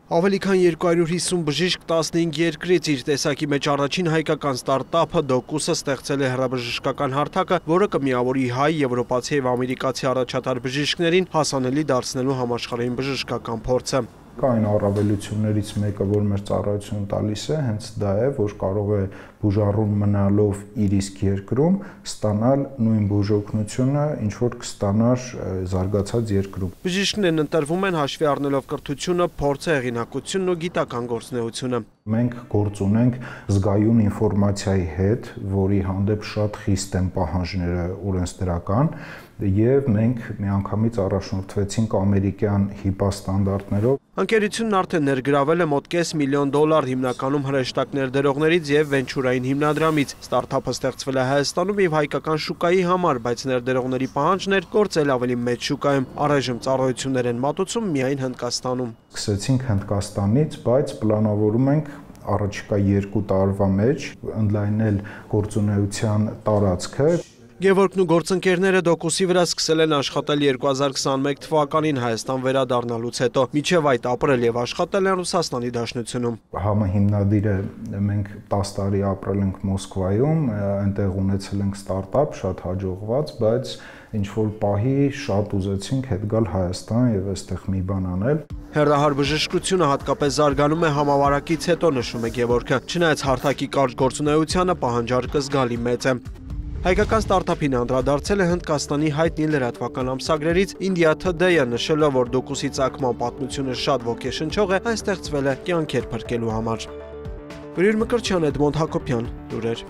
Ավելի քան 250 բժիշկ 15 երկրից իր տեսակի մեջ առաջին հայկական ստարտափը Docus-ը ստեղծել է հեռաբժշկական հարթակը, որը կմիավորի հայ, եվրոպացի և ամերիկացի առաջատար բժիշկներին հասանելի դարձնելու համաշխարհային բժշկական փորձը։ Այն առավելություններից մեկը, որ մեր ծառայությունը տալիս է, հենց դա է, որ կարող է բուժառուն մնալով իր իսկ երկրում ստանալ նույն բուժօգնությունը, ինչ որ կստանար զարգացած երկրում։ Բժիշկներն ընտրվում են հաշվի առնելով կրթությունը, փորձը, հեղինակությունն ու գիտական գործունեությունը։ Մենք գործ ունենք զգայուն ինֆորմացիայի հետ, որի հանդեպ շատ խիստ են պահանջները օրենսդրական, եւ մենք միանգամից առաջնորդվեցինք ամերիկյան HIPAA ստանդարտներով։ Ընկերությունն արդեն ներգրավել է մոտ $500 միլիոն հիմնականում հրեշտակ ներդրողներից եւ վենչուրային հիմնադրամից։ Ստարտափը ստեղծվել է Հայաստանում եւ հայկական շուկայի համար, բայց ներդրողների պահանջն էր գործել ավելի մեծ շուկայում։ Առայժմ ծառայություններ են մատուցում միայն Հնդկաստանում։ Սկսեցինք Հնդկաստանից, բայց պլանավորում ենք առաջիկա 2 տարվա մեջ ընդլայնել գործունեության տարածքը։ Գևորգն ու գործընկերները Docus-ի վրա սկսել են աշխատել 2021 թվականին Հայաստան վերադառնալուց հետո, մինչև այդ ապրել եւ աշխատել են Ռուսաստանի Դաշնությունում։ Համահիմնադիրը մենք 10 տարի ապրել ենք Մոսկվայում, այնտեղ ունեցել ենք ստարտափ, շատ հաջողված, բայց ինչ-որ պահի շատ ուզեցինք հետ գալ Հայաստան եւ այստեղ մի բան անել։ Հեռահար բժշկությունը հատկապես զարգանում է համավարակից հետո, նշում է Գևորգը, չնայած հարթակի կարճ գործունեությանը պահանջարկը զգալի մեծ է։ Հայկական ստարտափին անդրադարձել է Հնդկաստանի հայտնի լրատվական ամսագրերից India Today-ը, նշելով, որ Docus-ի ծագման պատմությունը շատ ոգեշնչող է, այն ստեղծվել է կյանքեր փրկելու համար։ Բրիր Մկրտչյան, Էդմոնդ Հակոբյան, լուրեր։